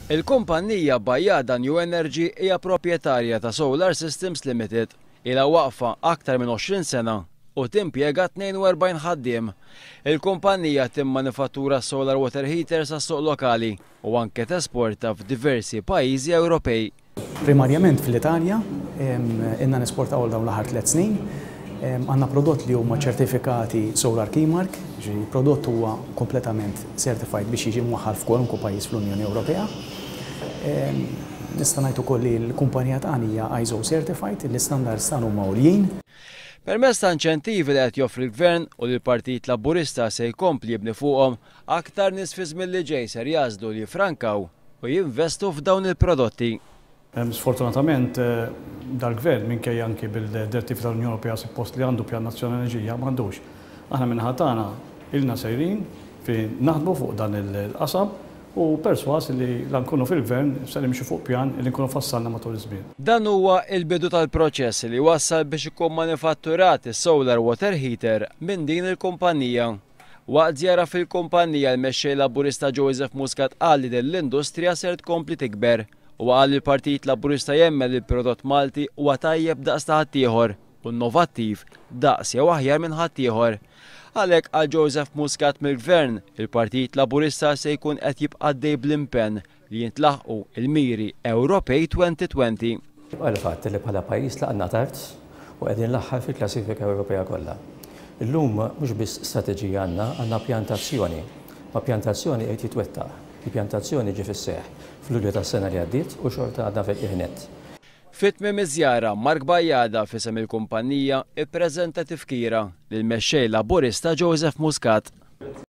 Il-kumpannija Bajada New Energy hija proprjetarja ta' Solar Systems Limited. Ilha waqfa aktar minn 20 sena u timpjega 42 ħaddiem. Il-kumpannija timmanifattura solar water heaters għas-suq lokali u anke tesporta f'diversi pajjiżi Ewropej. Primarjament fl-Italja, ilna nesportaw għal dawn l-aħħar tliet snin. Għandna prodott li huma ċertifikati Solar Keymark, jiġifieri prodott huwa kompletament certified biex jiġi mwaħħal f'kwalunkwe pajjiż fl-Unjoni Ewropea. Nista' ngħid ukoll li l-kumpanija tagħna hija ISO certified, l-istandards tagħna huma għoljin. Permezz ta' inċentivi li qed joffri l-Gvern u li l-Partit Laburista se jkompli jibni fuqhom, aktar nies fiż-żmien li ġej ser jagħżlu li jiffrankaw u jinvestu f'dawn il-prodotti. Sfortunatament dal-Gvern, minkejja anki bil-direttivi tal-Unjoni Ewropea suppost li għandu pjan nazzjonali enerġija, m'għandux. Aħna min-naħa tagħna ilna sejrin fi naħdmu fuq dan il-qasam u persważ li la nkunu fil-Gvern se nimxu fuq pjan li nkunu fassalna matul iż-żmien. Dan huwa l-bidu tal-proċess li wassal biex ikun manifatturat is-solar water heater minn din il-kumpanija. Waqt żjara fil-kumpanija l-Mexxej Laburista Joseph Muscat qal li din l-industrija ser tkompli tikber. Huwa qal li l-Partit Laburista jemmen li l-prodott Malti huwa tajjeb daqs ta' ħaddieħor u innovattiv daqs jew aħjar minn ħaddieħor. Għalhekk qal Joseph Muscat mill-Gvern, il-Partit Laburista se jkun qed jibqa' għaddej bl-impenn li jintlaħqu l-miri Ewropej 2020. Jibqa' l-fatt li bħala pajjiż tlaqna tard u qegħdin l-aħħar fil-klassifika Ewropea kollha. Illum mhux biss strateġija għandna, għandna pjan ta' azzjoni. Ma' pjan ta' azzjoni qed jitwettaq. Il-pjan ta' azzjoni ġie fis-seħħ f'Lulju tas-sena li għaddiet u xorta għadna fil-qiegħ nett. Fi tmiem iż-żjara, Mark Bajada f'isem il-kumpanija ippreżenta tifkira lill-Mexxej Laburista Joseph Muscat.